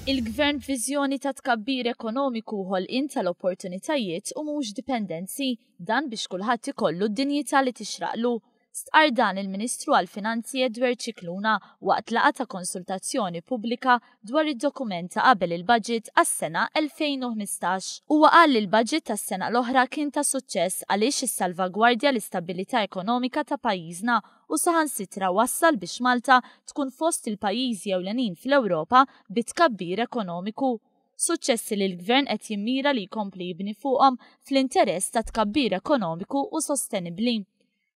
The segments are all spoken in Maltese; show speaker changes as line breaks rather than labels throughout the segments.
Il-Gvern b'viżjoni ta' tkabbir ekonomiku u ħolqien tal-opportunitajiet u mhux dipendenzi, dan biex kulħadd ikollu d-dinjità li tixraqlu. Stqarr dan il-Ministru għall-Finanzi Edward Scicluna waqt laqgħa ta' konsultazzjoni pubblika dwar id-dokument ta' qabel il-budget għas-sena 2015. Huwa qal li l-budget tas-sena l-oħra kien ta' suċċess għaliex issalvagwardja l-istabbilità ekonomika ta' pajjiżna u saħansitra wassal biex Malta tkun fost il-pajjiżi ewlenin fl-Ewropa bi tkabbir ekonomiku. Suċċessi li l-Gvern qed jimmira li jkompli jibni fuqhom fl-interess ta' tkabbir ekonomiku u sostenibbli.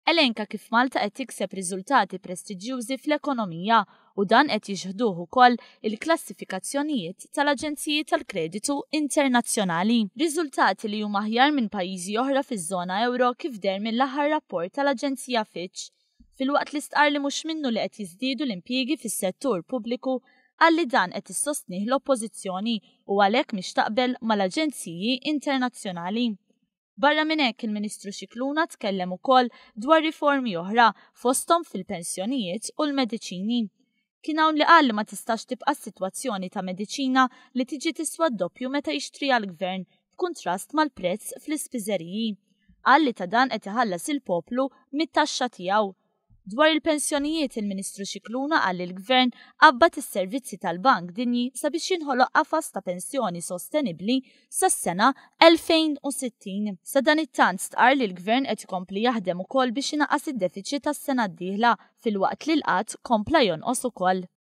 Elenka kif Malta qed tikseb riżultati prestiġjużi fl-ekonomija u dan qed jixhduh ukoll il-klassifikazzjonijiet tal-aġenziji tal-kreditu internazzjonali. Riżultati li huma aħjar minn pajjiżi oħra fiż-żona ewro kif deher mill-aħħar rapport tal-Aġenzija Fitch. Filwaqt li stqarr li mhux minnu li qed jiżdiedu l-impjiegi fis-settur pubbliku, qal li dan qed issostnih l-Oppożizzjoni u għalhekk mhix taqbel mal-aġenziji internazzjonali. Barra minn hekk il-Ministru Scicluna tkellem ukoll dwar riformi oħra fosthom fil-pensjonijiet u l-mediċini. Kien hawn li qal li ma tistax tibqa' s-sitwazzjoni ta' mediċina li tiġi tiswa d-doppju meta jixtriha l-Gvern b'kuntrast mal-prezz fl-ispiżeriji. Qal li ta' dan qed iħallas il-poplu mit-taxxa tiegħu. Dwar il-pensjonijiet, il-Ministru Scicluna qal li l-Gvern qabbad is-servizzi tal-Bank Dinji sabiex jinħoloq qafas ta' pensjoni sostenibbli sas-sena 2060. Sadanittant stqarr li l-Gvern qed ikompli jaħdem ukoll biex inaqqas id-defiċit għas-sena d-dieħla filwaqt li l-qgħad kompla jonqos ukoll.